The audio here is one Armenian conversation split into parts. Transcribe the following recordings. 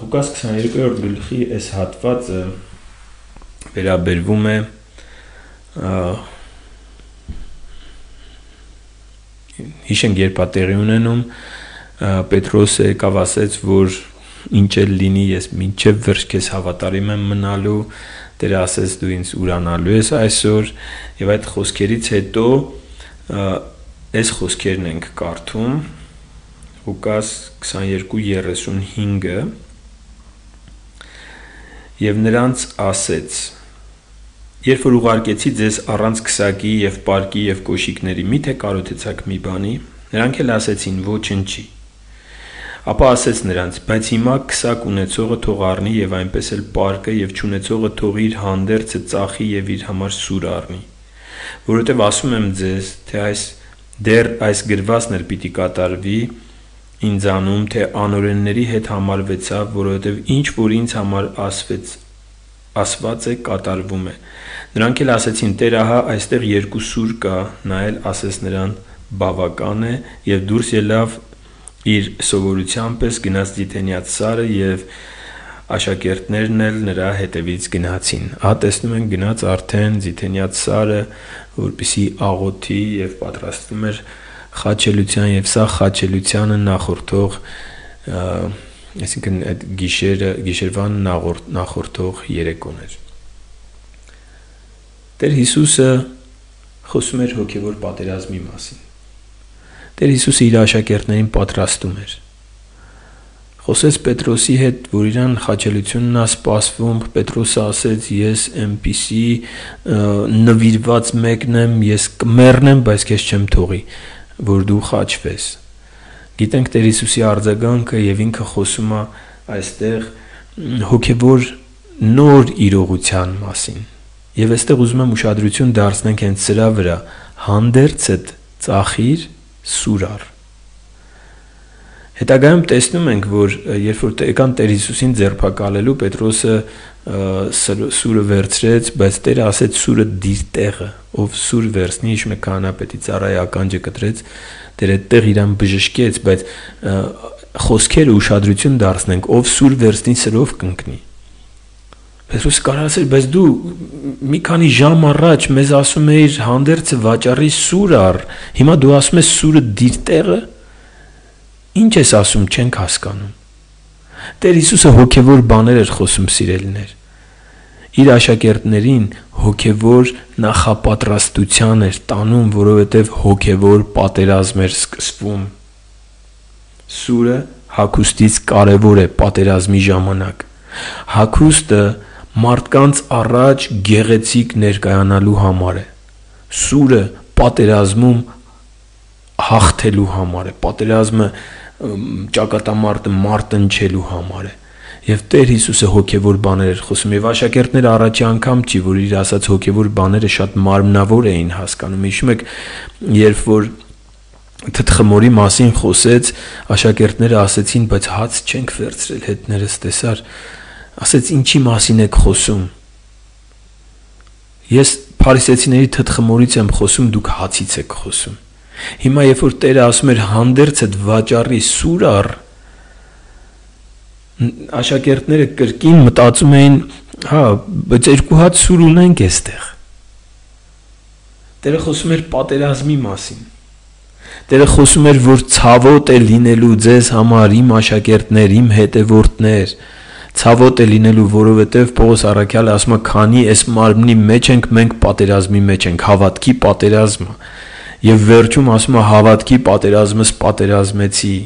Ղուկաս 22-րդ գլխի այս հատվածը վերաբերվում է հիշենք երբ է տեղի ունենում Պետրոսը եկավ ասեց, որ ինչ էլ լինի ես մինչև վերջ քեզ հավատարիմ եմ մնալու, Տերը ասեց դու ինձ ուրանալու ես այսօր, եւ այդ խոսքերից հետո այս խոսքերն ենք կարդում Ղուկաս 22:35-ը եւ նրանց ասեց. Երբ որ ուղարկեցի ձեզ առանց քսակի եւ պարկի եւ կոշիկների, միթե կարոթեցաք մի բանի, նրանք էլ ասեցին ոչնչի։ Ապա ասեց նրանց, բայց հիմա քսակ ունեցողը թող առնի եւ այնպես էլ պարկը եւ չունեցողը թող իր հանդերձը ծախի եւ իր համար սուր առնի, որովհետեւ ասում եմ ձեզ, թե այս գրվածն էլ պիտի կատարվի ինձանում, թե անօրենների հետ համարվեցավ, որովհետեւ ինչ որ ինձ համար ասված է կատարվում է։ Նրանք էլ ասեցին, Տեր, ահա այստեղ 2 սուր կա, նա էլ ասեց նրան բավական է եւ դուրս ելավ իր սովորության պես գնաց Դիթենիաց սարը եւ աշակերտներն էլ նրա հետևից գնացին։ Տեսնում ենք գնաց արդեն Դիթենիաց սարը, որպեսի աղոթի եւ պատրաստվում էր խաչելության եւ սա խաչելությանը նախորդող այսինքն այդ գիշերվան նախորդող երեկոն էր։ Տեր Հիսուսը խոսում էր հոգևոր պատերազմի մասին։ Տեր Հիսուսը իր աշակերտներին պատրաստում էր։ Խոսեց Պետրոսի հետ, որ իրան խաչելությունն է սպասվում, Պետրոսը ասեց, ես այնպիսի նվիրված մեկն եմ, ես կմեռնեմ, բայց քեզ չեմ թողի, որ դու խաչվես։ Գիտենք Տեր Հիսուսի արձագանքը եւ ինքը խոսում է այստեղ հոգևոր նոր իրողության մասին։ Եվ այստեղ ուզում եմ ուշադրություն դարձնենք հենց սրա վրա, հանդերձդ ծախիր սուրար։ Հետագայում տեսնում ենք, որ երբ որ եկան Տեր Հիսուսին ձերբակալելու, Պետրոսը սուրը վերցրեց, բայց Տերը ասեց սուրը դիր տեղը, ով սուր վերցնի, հիշում եք քահանապետի ծառայի ականջը կտրեց, Տերը այդտեղ իրան բժշկեց, բայց խոսքերը ուշադրություն դարձնենք, ով սուր վերցնի, սրով կընկնի։ Պետրոսը կարող ասել, բայց դու մի քանի ժամ առաջ մեզ ասում էիր հանդերձը վաճառի սուր առ, հիմա դու ասում ես սուրը դիր տեղը։ Ինչ ես ասում, չենք հասկանում։ Տեր Հիսուսը հոգևոր բաներ էր խոսում, սիրելիներ։ Իր աշակերտներին հոգևոր նախապատրաստության էր տանում, որովհետև հոգևոր պատերազմ էր սկսվում։ Սուրը հագուստից կարևոր է պատերազմի ժամանակ։ Հագուստը մարդկանց առաջ գեղեցիկ ներկայանալու համար է։ Սուրը պատերազմում հաղթելու համար է։ Պատերազմը ճակատամարտը մարտնչելու համար է։ Եվ Տեր Հիսուսը հոգևոր բաներ էր խոսում, եւ աշակերտները առաջի անգամ չի, որ իր ասած հոգևոր բաները շատ մարմնավոր էին հասկանում։ Հիշում եք, երբ որ թթխմորի մասին խոսեց, աշակերտները ասեցին, բայց հաց չենք վերցրել հետներս, տեսար։ Ասեց, ինչի մասին եք խոսում։ Ես փարիսեցիների թթխմորից եմ խոսում, դուք հացից եք խոսում։ Հիմա երբ որ Տերը ասում էր հանդերձդ վաճառի սուր առ, աշակերտները կրկին մտածում էին, բայց 2 հատ սուր ունենք այստեղ։ Տերը խոսում էր պատերազմի մասին։ Տերը խոսում էր, որ ցավոտ է լինելու ձեզ համար իմ աշակերտներ, իմ հետևորդներ։ Ցավոտ է լինելու, որովհետև Պողոս առաքյալը ասում է, քանի այս մարմնի մեջ ենք, մենք պատերազմի մեջ ենք, հավատքի պատերազմը։ Եվ վերջում ասում է հավատքի պատերազմս պատերազմեցի,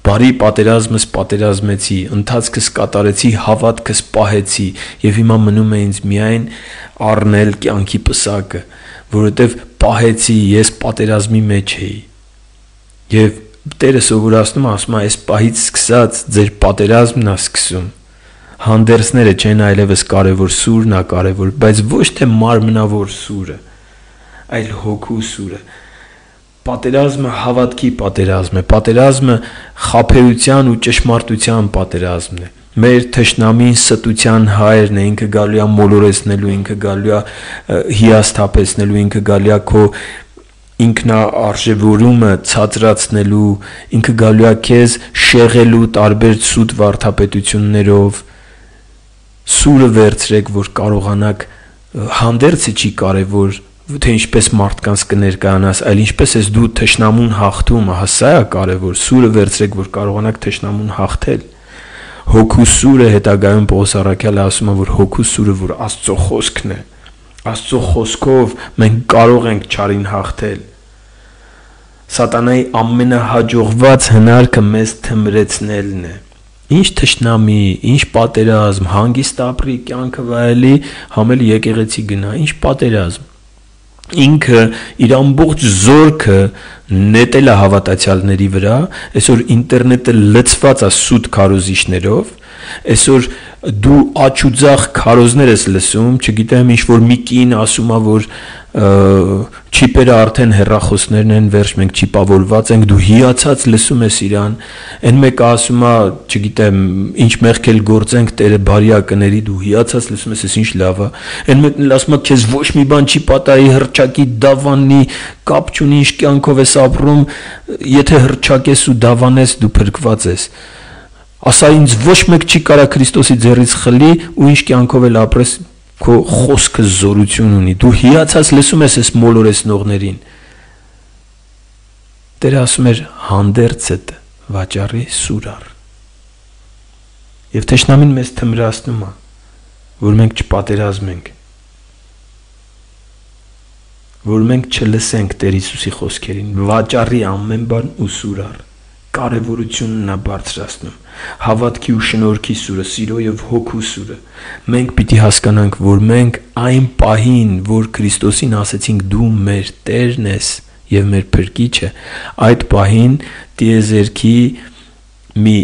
բարի պատերազմս պատերազմեցի, ընթացքս կատարեցի, հավատքս պահեցի, եւ հիմա մնում է ինձ միայն առնել կյանքի պսակը, որովհետև պահեցի, ես պատերազմի մեջ էի։ Եվ Տերը սովորացնում ասում է, այս պահից սկսած ձեր պատերազմն է սկսում։ Հանդերձները չեն այլևս կարևոր, սուրն է կարևոր, բայց ոչ թե մարմնավոր սուրը, այլ հոգու սուրը։ Պատերազմը հավատքի պատերազմ է, պատերազմը խաբեության ու ճշմարտության պատերազմն է։ Մեր թշնամին ստության հայրն է, ինքը գալու է մոլորեցնելու, ինքը գալու է հիասթափեցնելու, ինքը գալու է քո ինքնարժևորումը ցածրացնելու, ինքը գալու է քեզ շեղելու տարբեր սուտ վարդապետություններով, սուրը վերցրեք, որ կարողանաք, հանդերձը չի կարևոր, թե ինչպես մարդկանց կներկայանաս, այլ ինչպես ես դու թշնամուն հաղթում, սա է կարևոր, սուրը վերցրեք, որ կարողանաք թշնամուն հաղթել։ Հոգու սուրը հետագայում Պողոս առաքյալը ասում է, որ հոգու սուրը, որ Աստծո խոսքն է, Աստծո խոսքով մենք կարող ենք չարին հաղթել։ Սատանայի ամենահաջողված հնարքը մեզ թմրեցնելն է։ Ինչ թշնամի, ինչ պատերազմ, հանգիստ ապրի, կյանքը վայելի, համել եկեղեցի գնա, ինչ պատերազմ։ Ինքը իր ամբողջ զորքը նետել է հավատացյալների վրա, այսօր ինտերնետը լցված է սուտ քարոզիչներով, այսօր դու աչուձախ քարոզներ ես լսում, չգիտեմ, ինչ որ մի կին ասում է, որ չիպերը արդեն հեռախոսներն են, վերջ մենք չիպավորված ենք, դու հիացած լսում ես իրան, այն մեկը ասում է, չգիտեմ, ինչ մեղք էլ գործենք, Տերը բարի է կների, դու հիացած լսում ես, ինչ լավ է, այն մեկն էլ ասում է, քեզ ոչ մի բան չի պատահի, հռչակի, դավանի, կապ չունի, ինչ կյանքով ես ապրում, եթե հռչակես ու դավանես, դու փրկված ես։ Ասա ինձ ոչ մեկ չի կարա Քրիստոսի ձեռից խլի ու ինչ կյանքով էլ ապրես, քո խոսքը զորություն ունի, դու հիացած լսում ես այս մոլորեսնողներին։ Տերը ասում էր հանդերձդ վաճառի սուրար։ Եվ թշնամին մեզ թմրացնում է, որ մենք չպատերազմենք, որ մենք չլսենք Տեր Հիսուսի խոսքերին, վաճառի ամեն բան ու սուրար, կարևորությունն է բարձրացնում, հավատքի ու շնորհքի սուրը, սիրո եւ հոգու սուրը։ Մենք պիտի հասկանանք, որ մենք այն պահին, որ Քրիստոսին ասեցինք դու մեր Տերն ես եւ մեր Փրկիչը, այդ պահին տիեզերքի մի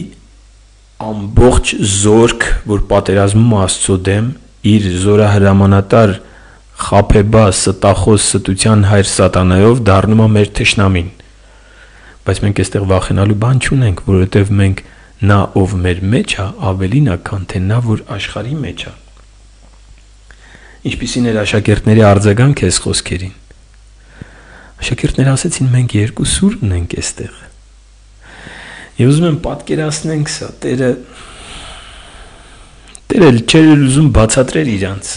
ամբողջ զորք, որ պատերազմում Աստծո դեմ, իր զորահրամանատար խաբեբաս ստախոս ստության հայր սատանայով դառնում է մեր թշնամին։ Բայց մենք այստեղ վախենալու բան չունենք, որովհետև մենք նա ով մեր մեջ է, ավելին է, քան թե նա որ աշխարհի մեջ է։ Ինչպիսին էր աշակերտների արձագանքը այս խոսքերին։ Աշակերտները ասեցին մենք երկու սուր ունենք այստեղ։ Եվ ուզում եմ պատկերացնենք սա, Տերը չէր ուզում բացատրել իրանց։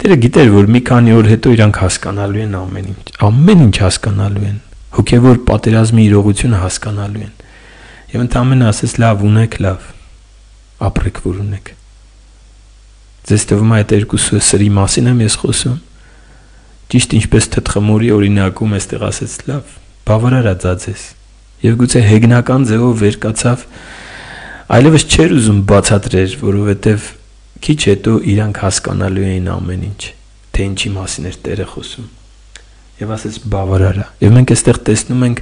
Տերը գիտեր, որ մի քանի օր հետո իրանք հասկանալու են ամեն ինչ հասկանալու են, հոգևոր պատերազմի իրողությունը հասկանալու են։ Եվ ընդամենը ասես լավ ունեք, լավ, ապրեք որ ունեք։ Ձեզ թվում է այդ երկուսը սրի մասին եմ ես խոսում։ Ճիշտ ինչպես թթխմորի օրինակում էստեղ ասեց լավ, բավարար է ձեզ։ Եվ գուցե հեգնական ձևով վեր կացավ, այլևս չէր ուզում բացատրել, որովհետև քիչ հետո իրանք հասկանալու էին ամեն ինչ, թե ինչի մասին էր Տերը խոսում։ Եվ ասեց բավարար է։ Եվ մենք այստեղ տեսնում ենք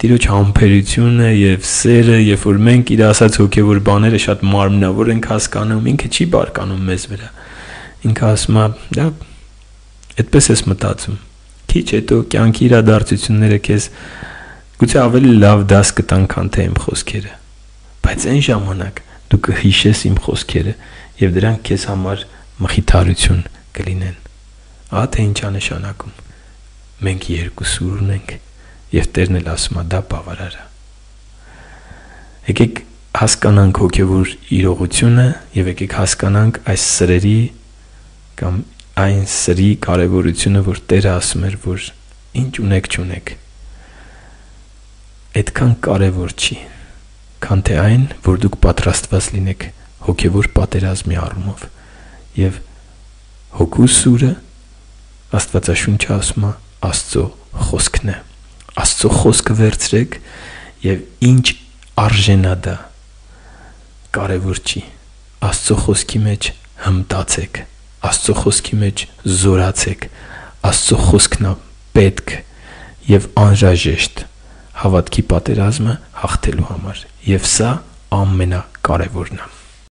Տիրոջ համբերությունը եւ սերը, երբ որ մենք իր ասած հոգեվոր բաները շատ մարմնավոր ենք հասկանում, ինքը չի բարկանում մեզ վրա։ Ինքը ասում է, դա այդպես ես մտածում։ Քիչ հետո կյանքի իրադարձությունները քեզ գուցե ավելի լավ դաս կտան, քան թե իմ խոսքերը։ Բայց այն ժամանակ դու կհիշես իմ խոսքերը եւ դրանք քեզ համար մխիթարություն կլինեն։ Ահա թե ինչ է նշանակում։ Մենք երկու սուր ունենք եւ Տերն էլ ասում է դա բավարար է։ Եկեք հասկանանք հոգեվոր իրողությունը եւ եկեք հասկանանք այս սրերի կամ այն սրի կարևորությունը, որ Տերը ասում էր, որ ինչ ունեք չունեք, այդքան կարևոր չի, քան թե այն, որ դուք պատրաստված լինեք հոգևոր պատերազմի առումով եւ հոգու սուրը Աստվածաշունչը ասում է Աստծո խոսքն է։ Աստծո խոսքը վերցրեք եւ ինչ արժենա դա կարևոր չի։ Աստծո խոսքի մեջ հմտացեք, Աստծո խոսքի մեջ զորացեք, Աստծո խոսքն է պետք եւ անհրաժեշտ հավատքի պատերազմը հաղթելու համար։ Եվ սա ամենակարևորն է։